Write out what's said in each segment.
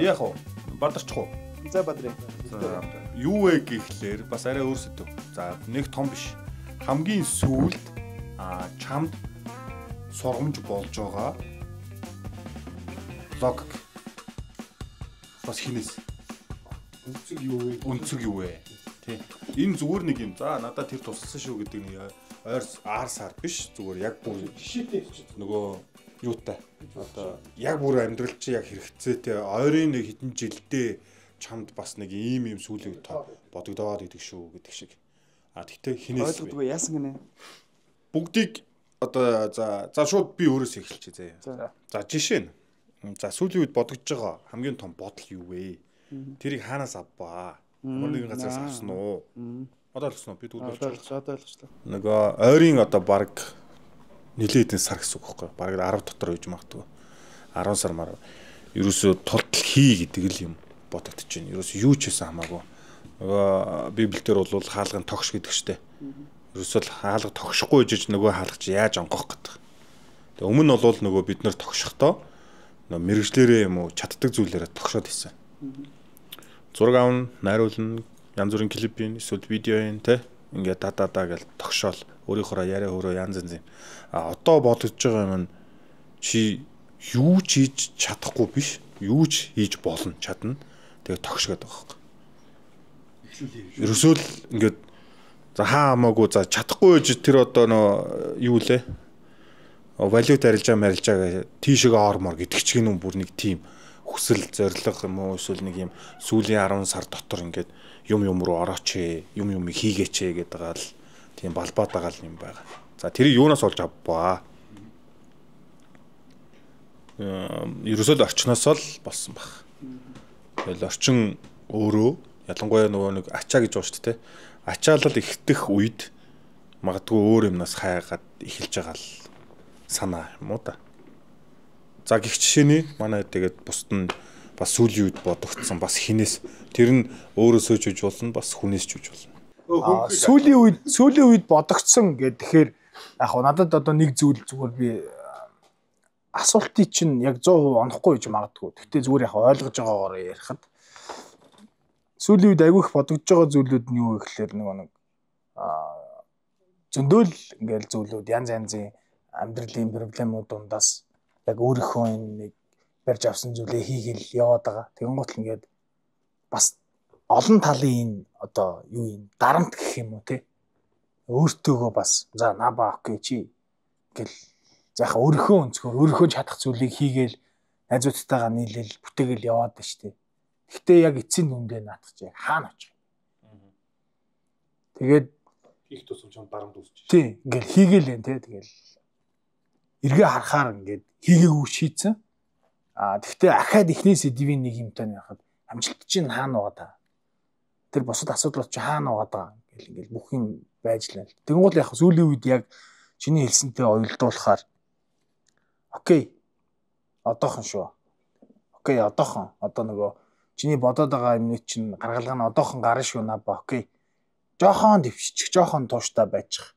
яах вэ? Бадарчих уу? За бадрыг. Юу вэ гэхлээр бас арай өөр сэдв. За нэг том биш. Хамгийн сүүлд чамд сургамж болж байгаа логик бас хинээс өнцөг юу вэ? Тий. Энэ зүгээр нэг юм. За надад тэр тусалсан шүү гэдэг нэг аар сар биш. Зүгээр яг бүр нөгөө юутай. Одоо яг бүр амьдрал чи яг хэрэгцээтэй ойрын нэг хэдэн жилдээ чамд бас нэг ийм сүүлийн бодогдоод идэг шүү гэдэг шиг. Тэгтээ хинээс ойлгодгүй яасан гинэ. Бүгдийг одоо за шууд би өөрөөсөө эхэлчихье заяа. За жишээ нь. За сүүлийн үед бодогдож байгаа хамгийн том бодол юу вэ? Тэрийг хаанаас авбаа? Ямар нэгэн газраас авсан уу? Одоо ойлгосноо би тэгвэл одоо ойлгочлаа. Нөгөө ойрын одоо баг нилээд энэ сар гэсэн үг байхгүй. Баг 10 дотор үйж магадгүй. 10 сар мар. Ерөөсөө тултал хий гэдэг л юм бодогдож байна. Ерөөсөө юу ч хийсэн хамаагүй. Нөгөө Библиэлд бол хаалгын тогш гэдэг штэ. Ерөөсөө л хаалга тогшихгүй жиж нөгөө хаалгач яаж онгох гэдэг. Тэгээ өмнө нь бол нөгөө бид нэр тогшихдоо нөгөө мэрэгжлэрээ юм уу чаддаг зүйлээрээ тогшоод хийсэн. Зураг авна, найруулна, янз бүрийн клипийн эсвэл видеоын те ингээд дадаа гэж тогшоол өөрийнхөө яриа хөрөө янз янз юм. Одоо бодож байгаа юм чи юу ч хийж чадахгүй биш, юу ч хийж болно чадна. Тэгээ тогшгээд байгаа юм. Ерөөсөө л ингээд за хамаагүй за чадахгүй гэж тэр одоо нөө юу лээ? Валют арилжаа гэж тийшээ ормор гэдэг ч гинүн бүр нэг тим хүсэл зориг юм уу эсвэл нэг юм сүүлийн 10 сар дотор ингээд юм руу орооч юм хийгээч гэдэг байгаа л тийм балбаад байгаа л юм байгаа. За тэрийг юунаас олж авбаа? Ерөөсөө л орчноос л болсон баг. Тэгэл орчин өөрөө ялангуяа нөгөө нэг ачаа гэж байна шүү дээ. Ачаалал ихтэх үед магадгүй өөр юмнаас хайгаад эхэлж байгаа л санаа юм уу та. За гих жишээний манай тэгээд бусд нь бас сүүлийн үед бодогдсон бас хинээс тэр нь өөрөөсөө ч үж болно бас хүнээс ч үж болно. Сүүлийн үед бодогдсон гэхээр яг надад одоо нэг зүйл зүгээр би асуултыг чинь яг 100% онохгүй гэж магадгүй. Гэхдээ зүгээр яг ойлгож байгаагаар ярихад сүүлийн үед айгүй их бодогдож байгаа зүйлүүд нь юу гэхээр нэг зөндөөл ингээл зүйлүүд янз янзын амьдралын проблемууд дундаас яг өөрийнхөө нэг барьж авсан зүйлээ хийгээл яваад байгаа. Тэгэн гутал ингээд бас олон талын одоо юу юм дарамт гэх юм уу те өөртөөгөө бас за наба окей чи гэл заахаа өөрийнхөө өнцгөр өөрийнхөө чадах зүйлийг хийгээл найзуудтайгаа нийлээл бүтээгээл яваад байна шүү дээ. Гэхдээ яг эцсийн дүндээ наатах чи хаана очих. Тэгээд хийх тусам ч дарамт үүсчих. Тий ингээл хийгээл юм те тэгэл эргээ харахаар ингээд хийгээгүй шийдсэн. Тэгвэл ахаад ихний сэдвийн нэг юмтай яхад амжилт чинь хаана байгаа та. Тэр босод асуудлууд чи хаана байгаа гэл ингээл бүх юм байж лээ. Тэнгуул яг сүүлийн үед яг чиний хэлсэнтэй оюулдуулахаар окей. Одоохон шүү. Окей, одоохон. Одоо нөгөө чиний бодоод байгаа юмны чинь гаргалгаа нь одоохон гарна шүү наба. Окей. Жохон дэвшчих, жохон тууштай байчих.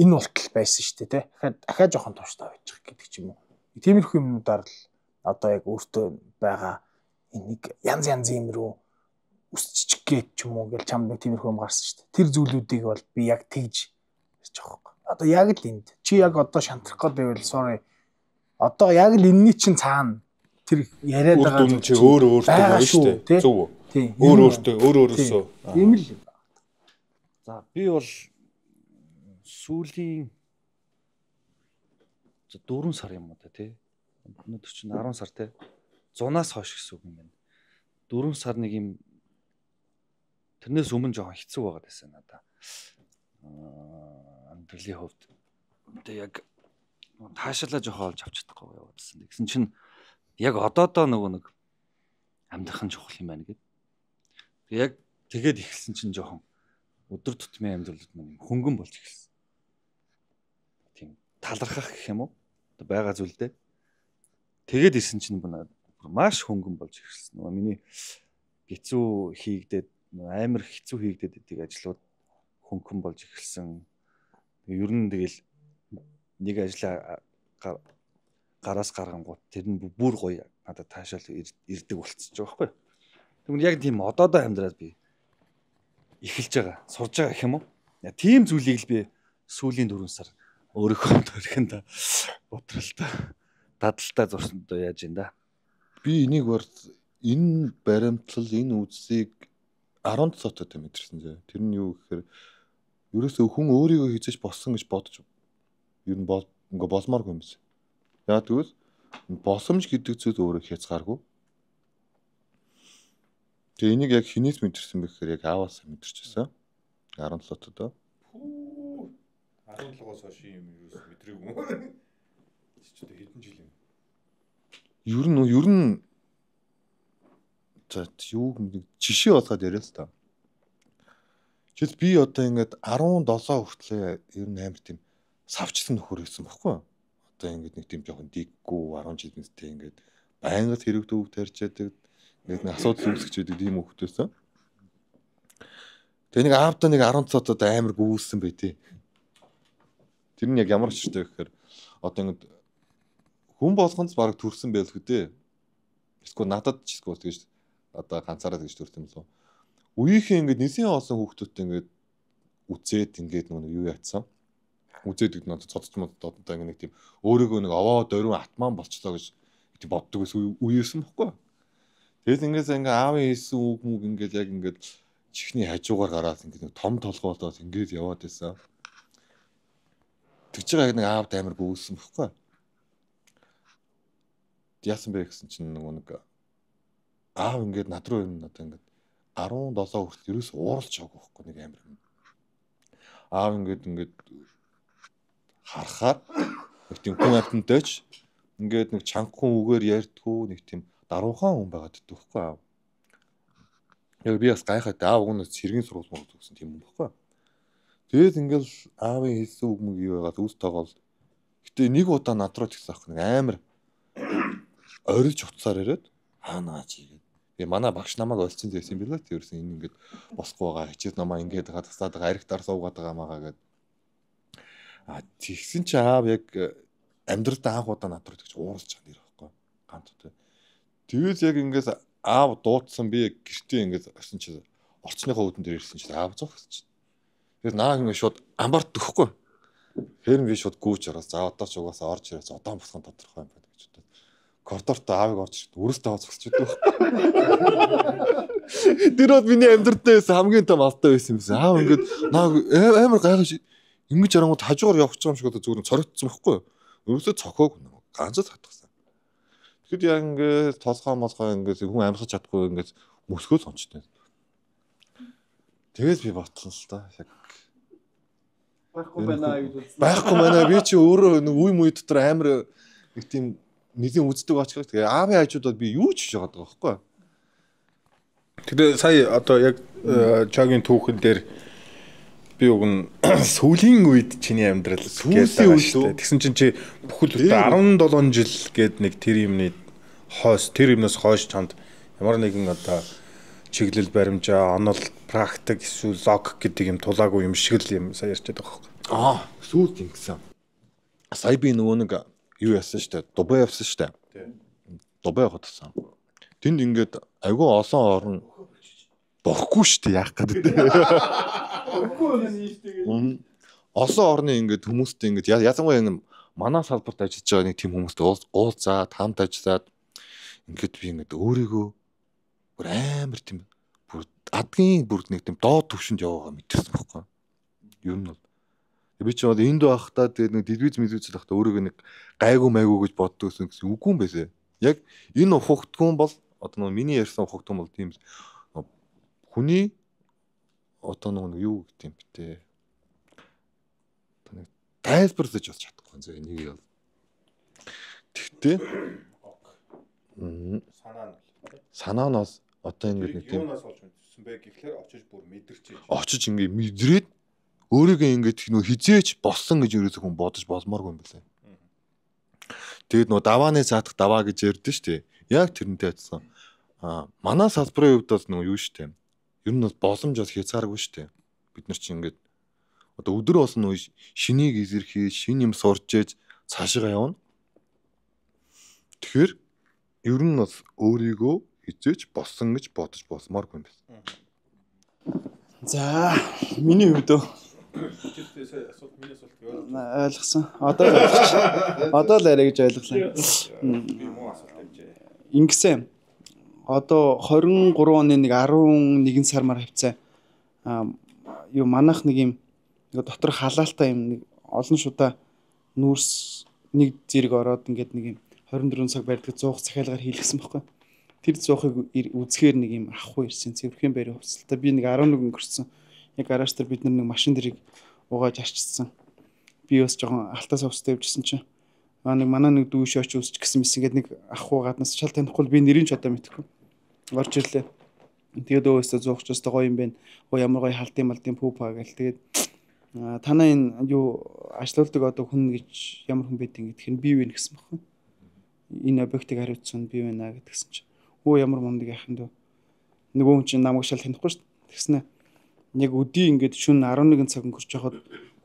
Энэ болтол байсан шүү дээ, тэ. Дахиад жоохон тууштай байчих гэдэг ч юм уу. Тиймэрхүү юмнуудаар л одоо яг өөртөө байгаа энийг янз янзын юм руу өсчих гэж ч юм уу гэж чамд нэг тиймэрхүү юм гарсан шүү дээ. Тэр зүйлүүдийг бол би яг тэгж ярьж байгаа юм. Одоо яг л энд чи яг одоо шантрах гэдэг байвал sorry. Одоо яг л энэний чинь цаана тэр яриад байгаа зүйл чи өөртөө байна шүү дээ. Зөв үү? Тийм. Өөрөөсөө. Тийм л юм. За би бол сүүлийн 4 сар юм уу та тий. Өнөөдөр чинь 10 сар тий. 100-аас хойш гэсэн үг юм байна. 4 сар нэг юм тэрнээс өмнө жоохон хэцүү байгаад байсан надаа. Амьдралын хувьд тэгээ яг таашаалаа жоохон олж авч чадахгүй яваадсан. Тэгсэн чинь яг одоодоо нэг амьдрах нь чухал юм байна гэд. Яг тэгээд эхэлсэн чинь жоохон өдөр тутмын амьдралд нэг хөнгөн болж эхэлсэн. Тийм талархах гэх юм уу? Одоо байгаа зүйлдээ. Тэгээд ирсэн чинь маш хөнгөн болж эхэлсэн. Нөгөө миний хэцүү хийгдээд амар хэцүү хийгдээд идэг ажлууд хөнгөн болж эхэлсэн. Ер нь тэгэл нэг ажлаа гараас гаргангууд тэр нь бүр гоё надад таашаал ирдэг болчихж байгаа байхгүй. Тэгвэл яг тийм одоодоо амьдраад би эхэлж байгаа, сурж байгаа гэх юм уу? Тийм зүйлийг л би сүүлийн 4 сар өөрийнхөө төрхөнд бодролтой дадалтай зурсандоо яаж юм да. Би энийг бол энэ баримтлал энэ үзсийг 10 цотод мэдэрсэн зэ. Тэр нь юу гэхээр ерөөсөө хүн өөрийгөө хийж болсон гэж бодож ер нь ингээ болмооргүй юм байна. Яг тэгвэл босомж гэдэг зүйл өөрөө хязгааргүй. Тэгээ энийг яг хинээс мэдэрсэн бэ гэхээр яг ааваас мэдэрчээсэн. 17 тоо. 17-оос хойш юм ерөөс мэдрээгүй. Чи ч хэдэн жил юм. Ер нь за юу жишээ болгоод яриа л та. Жишээ би одоо ингээд 17 хүртлээ ер нь амар тийм савчсан нөхөр байсан байхгүй. Одоо ингээд нэг тийм жоохон диггүй 10 жилийнтэй ингээд байнга хэрэг төвөг тарьчаадаг ингээд нэг асуудал үүсгэж байдаг тийм хөвгтөөсөн. Тэгээ нэг аавда нэг 10 цотод амар гүйсэн байдیں۔ Тэр нь яг ямар ч хэрэгтэй гэхээр одоо ингээд хүн болгонд баг төрсэн байлгүй дээ. Эсвэл надад ч эсвэл тэгэж одоо ганцаараа тэгж төрсөн юм лөө. Үеийнхээ ингээд нэсийн олсон хүүхдүүдтэй ингээд үзээд ингээд нэг юу яатсан. Үзээд гэдэг нь цодч мод одоо ингээд нэг тийм өөрөөгөө нэг овоо дөрвөн атман болчлоо гэж тийм боддог ус үеэсэн бохгүй. Тэгэл ингээд аавын хийсэн үг мүг ингээд яг ингээд чихний хажуугаар гараад ингээд нэг том толгоолоод ингээд яваад байсан. Тэгж байгаа нэг аавд амар гүйсэн бохгүй. Яасан бэ гэсэн чинь нэг аав ингээд над руу юм надаа ингээд 17 хүртэл ерөөс ууралж байгаа байхгүй нэг амар юм. Аав ингээд харахаар нэг тийм хүн амтнтайч ингээд нэг чангахан үгээр ярьдгүү нэг тийм даруухан хүн байгаад ддэг байхгүй аав. Яг би бас гайхаад аав өгнөөс сэргийн сургууль мөн гэсэн тийм юм байхгүй. Тэгээд ингээд аавын хэлсэн үг мөг юу байгаад үс тоогоол. Гэтэ нэг удаа над руу тэгсэн ах нэг амар орилж утсаар ирээд хаанаа чи гэдэг. Би манай багш намайг олцсон байсан юм билээ. Тэрсэн энэ ингээд босхгүй байгаа. Хичээл намаа ингээд байгаа тасаад байгаа аригтаар суугаад байгаа маагаа гэд. Тэгсэн чи аав яг амьдралд анх удаа над руу тэгж ууралж байгаа нэр байхгүй. Ганц удаа. Тэгэл яг ингээд аав дуудсан би гэртээ ингээд орсон чи орчныхоо үүдэн дээр ирсэн чи аав зогсож. Тэр наа ингээд шууд амбарт өгөхгүй. Тэр би шууд гүүж ороод за одоо ч угаасаа орж ирээс удаан босхон тодорхой юм байна гэж бодоод. Коридорт аавыг орж ирээд үрэлтээ зогсож идэв. Тэр од миний амьдралдаа байсан хамгийн том алдаа байсан юм байна. Аав ингээд наа амар гайхаж ингэж арангууд хажуугаар явах юм шиг одоо зүгээр цорогдсон байхгүй юу? Өөрөөсөө цохоог ганцаа татгсан. Тэгэхэд яг ингээд толгоо молгоо ингээд хүн амьсгаж чадахгүй ингээд мөсгөө сончтой. Тэгээс би ботсон л та яг байхгүй байна гэж үзсэн. Байхгүй байна. Би чи өөрөө нэг үе муу дотор амар нэг тийм нэлийн үздэг очих. Тэгээ аавын хажуудад би юу ч хийж байгаа байхгүй. Тэгээ сая одоо яг чагийн түүхэн дээр би уг нь сүүлийн үед чиний амьдрал гэж байгаа шүү дээ. Тэгсэн чинь чи бүхэл 17 жил гээд нэг тэр юмнаас хойш чамд ямар нэгэн одоо чиглэл баримжаа, онол, практик эсвэл лог гэдэг юм тулаагүй юм шиг л юм сая ярьж байгаа байхгүй. Сүүлд ингэсэн. Сая би нөгөө нэг юу яасан штэ, Дубай явсан штэ. Дубай хотсон. Тэнд ингээд айгүй олон орн бохгүй штэ яах гэдэг. Олон орны ингээд хүмүүстэй ингээд язангуяа манай салбарт ажиллаж байгаа нэг тийм хүмүүстэй уулзаад хамт ажиллаад ингээд би ингээд өөрийгөө бүр амар тийм бүр адгийн бүр нэг тийм доод төвшөнд яваагаа мэдэрсэн байхгүй. Юу нь бол би ч бол энд байхдаа тэгээд нэг телевиз мэдүүлж байхдаа өөрийгөө нэг гайгүй майгүй гэж боддог гэсэн үгүй юм байсан. Яг энэ ухагтгүн бол одоо нэг миний ярьсан ухагтгүн бол тийм хүний одоо нэг юу гэдэг юм бэ те. Одоо нэг тайлбарлаж болж чадахгүй зөө энийг бол. Тэгтээ санаа нь бол одоо ингэ нэг тийм юунаас олж мэдсэн бэ гэхлээр очиж бүр мэдэрч очиж ингэ мэдрээд өөрийгөө ингэ нөө хизээч болсон гэж ерөөсөө хүн бодож болмооргүй юм байна. Тэгээд нөө давааны цаатах даваа гэж ярьдэн штэ. Яг тэрнтэй адилхан. Манай салбарын хувьд бол нөө юу штэ. Ер нь бол боломж бас хязгааргүй штэ. Бид нар чинь ингэ одоо өдөр болсон нөө шинийг эзэрхий, шин юм сурч ээж цаашгаа явна. Тэгэхээр ер нь бас өөрийгөө хизээч болсон гэж бодож болсмааргүй юм байна. За миний хувьд ойлгосон. Одоо л арай гэж ойлголоо. Ингэсэн. Одоо 23 оны нэг 11 сармаар хавцаа юу манайх нэг юм дотор халаалтай юм нэг олон шудаа нүүрс нэг зэрэг ороод ингээд нэг юм 24 цаг барьдаг 100 захиалгаар хийлгсэн байхгүй. Тэр 100-ыг үзэхээр нэг юм ахгүй ирсэн. Цэвэрхэн барь хувцалтай. Би нэг 11 өнгөрсөн. Яг гараж дээр бид нэг машин дэрийг угааж арчсан. Би бас жоохон алтаас өвстэй явжсэн чинь нэг манай нэг дүү шооч үсч гэсэн мэс ингээд нэг ахгүй гаднаас шал танихгүй би нэрийн ч одоо мэдэхгүй. Орж ирлээ. Тэгээд өөстө зуухчаас гоё юм байна. Ямар гоё халдын малдын пүүпа гэл тэгээд танаа энэ юу ажилуулдаг одоо хүн гэж ямар хүн байдгийг тэгэхээр би вэ гэсэн баггүй. Энэ объектыг хариуцсан би байна гэдгсэн чинь ямар мундаг яхан дөө. Нөгөө хүн чинь намайг шал танихгүй шүү дээ. Тэгснэ яг өдий ингээд шүн 11 цаг өнгөрч яхад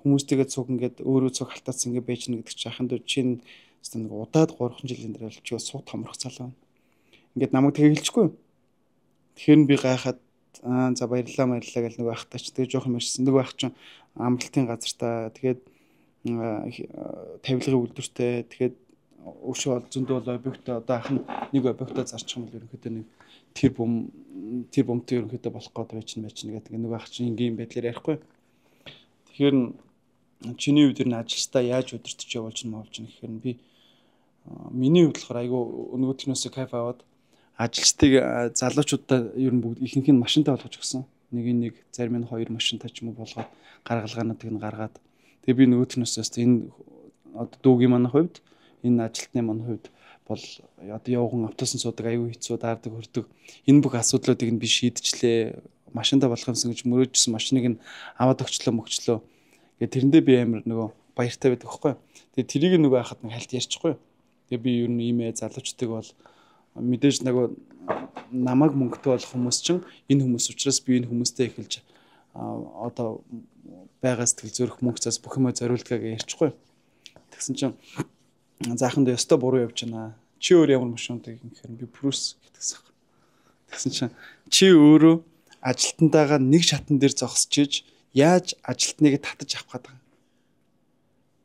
хүмүүстэйгээ цуг ингээд өөрөө цуг халтаацсан ингээд байж гэнэ гэдэг чинь яхан дөө чинь нэг удаад 3 жилийн дараа л чи сууд томрох залуу. Ингээд намайг тэгээ хэлчихгүй. Тэгэхээр би гайхаад за баярлалаа гэл нөгөө ахтаа ч тэгээ жоох юм ярьсан. Нөгөө ах чинь амралтын газартаа тэгээд тавилгын үйлдвэртэй тэгээд өшөө бол зөндөө бол объектоо одоо ах нэг объектоо зарчих юм бол ерөнхийдөө нэг тэр бомтой ерөнхийдөө болох гээд байж гэдэг нөгөө ах чинь ингийн байдлаар ярихгүй. Тэгэхээр чиний үед энэ ажилчдаа яаж удирдах явуулж гэхээр би миний хувьд болохоор айгүй нөгөөдгнөөсөө кайф аваад ажилчдыг залуучуудаа ер нь бүгд ихэнх нь машинтай болгож өгсөн. Нэг зарим нь 2 машинтай ч юм уу болгоод гаргалгаануудыг нь гаргаад тэгээ би нөгөөдгнөөсөө энэ одоо дүүгийн манай хувьд энэ ажилтны манай хувьд бол одоо явган автобусын суудаг аюу хэцүү даардаг хөрдөг энэ бүх асуудлуудыг нь би шийдчихлээ. Машинтай болох юмсан гэж мөрөөжсөн машиныг нь аваад өгчлөө. Тэгээ тэрэндээ би амар нөгөө баяртай байдаг байхгүй. Тэгээ тэрийг нөгөө хахад нэг хальт ярьчихгүй. Тэгээ би ер нь иймээ залуучдаг бол мэдээж нөгөө намайг мөнгөтэй болох хүмүүс чинь энэ хүмүүс учраас би энэ хүмүүстэй эхэлж одоо байгаа сэтгэл зүрх мөнгөцөөс бүх юмаа зориулдгаа гэж ярьчихгүй. Тэгсэн чинь заахан дээр өстө буруу явж байна. Чи өөр ямар машинтай гэхээр би Прус гэдгсэн. Тэгсэн чинь чи өөрөө ажилтнтайгаа нэг шатан дээр зогсож иж яаж ажилтныг татаж авах гэдэг.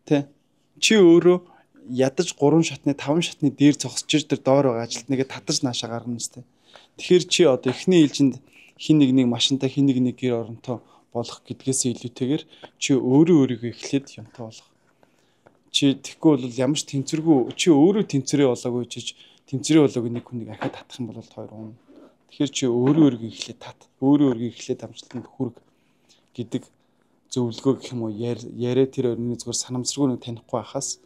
Тэ? Чи өөрөө ядаж 3 шатны 5 шатны дээр зогсож иж тэр доор байгаа ажилтныг татаж наашаа гаргана үстэй. Тэгэхээр чи одоо эхний ээлжинд хин нэг машинтай хин нэг гэр оронтой болох гэдгээс илүүтэйгээр чи өөрийгөө эхлээд юмтай болох. Чи тэгэхгүй бол ямар ч тэнцвэргүй чи өөрөө тэнцвэрээ болоогүй чиж тэнцвэрээ болоогүй нэг хүнийг ахаад татах юм бол хоёр хүн. Тэгэхээр чи өөрийгөө эхлээд тат. Өөрийгөө эхлээд амжилтанд хүрг гэдэг зөвлөгөө гэх юм уу яриа тэр өрний зүгээр санамсаргүй нэг танихгүй байхаас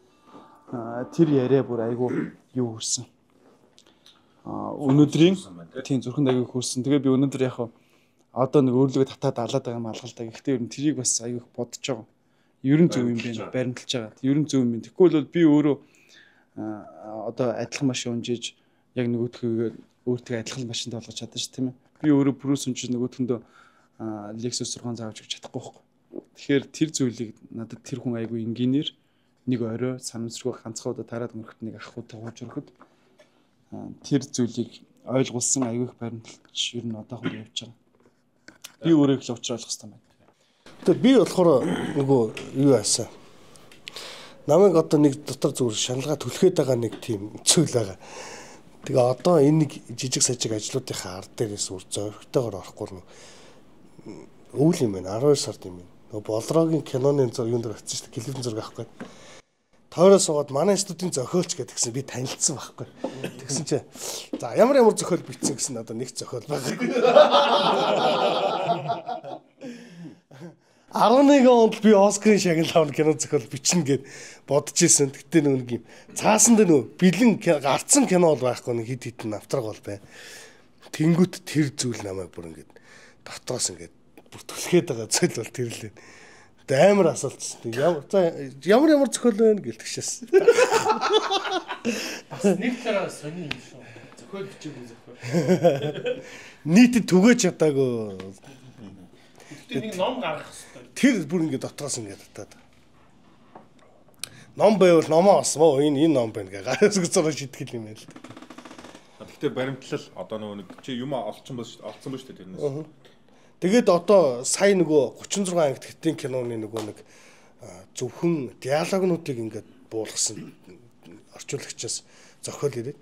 тэр яриа бүр айгүй юу хүрсэн. Өнөөдрийн тийм зүрхэнд айгүй хүрсэн. Тэгээ би өнөөдөр яг одоо нэг өөрлөгөө татаад алаад байгаа юм алгалтай. Гэхдээ ер нь тэрийг бас айгүй бодож байгаа. Ер нь зөв юм байна. Баримталж байгаа. Ер нь зөв юм байна. Тэгэхгүй бол би өөрөө одоо адилхан машин унжиж яг нөгөөдхөө өөртөө адилхан машинтай болгож чадсан ш тийм ээ. Би өөрөө Прус унжиж нөгөөдхөндөө Lexus 6 заавж өгч чадахгүй байхгүй. Тэгэхээр тэр зүйлийг надад тэр хүн айгүй инженеэр нэг орой санамсргүй ганцхан удаа тараад өнгөрөхт нэг ах удаа хууж өрөхөд тэр зүйлийг ойлгуулсан айгүй их баримталж ер нь одоохон явж байгаа. Би өөрөө их л уучруулах хэрэгтэй байна. Тэгээд би болохоор нөгөө юу яасан. Намайг одоо нэг дотор зүгээр шаналгаа түлхээд байгаа нэг тийм зүйл байгаа. Тэгээ одоо энэ нэг жижиг сажиг ажлуудынхаа ард дээрээс үр зөрөгтэйгээр орохгүй өвөл юм байна. 12 сард юм байна. Нөгөө Болрогийн киноны юунд дээр очсон шүү дээ. Клипэн зураг авахгүй. Тойроо суугаад манай студийн зохиолч гэдгсэн би танилцсан байхгүй. Тэгсэн чи за ямар зохиол бичсэн гэсэн одоо нэг зохиол байгаа. 11 онд би Оскарын шагнал авах кино зохиол бичнэ гэд бодож исэн. Гэтэ нэг юм цаасан дээр нөгөө бэлэн гарцсан кино бол байхгүй нэг хит хитэн автраг бол бай. Тэнгүүт тэр зүйл намайг бүр ингээд дотроос ингээд бүр түлхээд байгаа зүйл бол тэр лээ. Амар асуултсан. Ямар зохиол байна гэлтгшээс. Бас нэг талаараа сони юм шүү. Зохиол бичээгүй зохиол. Нийтэд түгэж чадаагүй. Гэтэ нэг ном гаргах хэрэгтэй. Тэр бүр ингээд дотроос ингээд татаад. ном байвал номоо осмо энэ ном байна гэ гараас зураг шитгэл юм байл. Гэхдээ баримтлал одоо нэг чи юм олцсон ба шүү дээ тэрнээс. Тэгээд одоо сая нөгөө 36 анги тэгтийн киноны нөгөө нэг зөвхөн диалогнуудыг ингээд буулгасан орчуулагчаас зохиол ирээд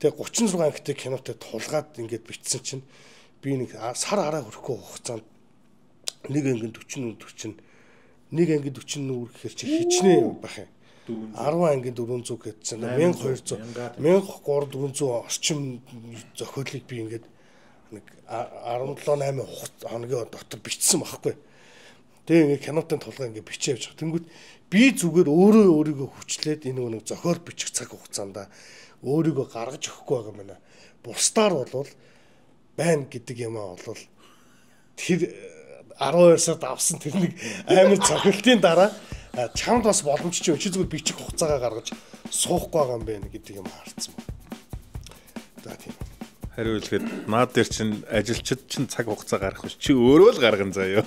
тэгээ 36 ангитай кинотой тулгаад ингээд бичсэн чинь би нэг сар араа хүрэхгүй хугацаанд нэг анги 40 нэг анги 40 нүр гэхэр чи хичнээн байх юм. 10 анги 400 гэдсэн 1200 1300 орчим зохиолыг би ингээд нэг 17-8 хоногийн дотор бичсэн байхгүй. Тэгээ ингээ кинотын тулгаа ингээ бичиж явж байгаа. Тэнгүүд би зүгээр өөрийгөө хүчлээд энэ нэг зохиол бичих цаг хугацаанд өөрийгөө гаргаж өгөхгүй байгаа юм байна. Бусдаар бол байна гэдэг юм аа бол тэр 12 сард авсан тэр нэг амар цохилтын дараа чамд бас боломж чи зүгээр бичих хугацаагаа гаргаж суухгүй байгаа юм байна гэдэг юм харцсан байна. За тийм. Хариу хэлэхэд наад дээр чинь ажилчид чинь цаг хугацаа гаргах биш чи өөрөө л гарган заяа.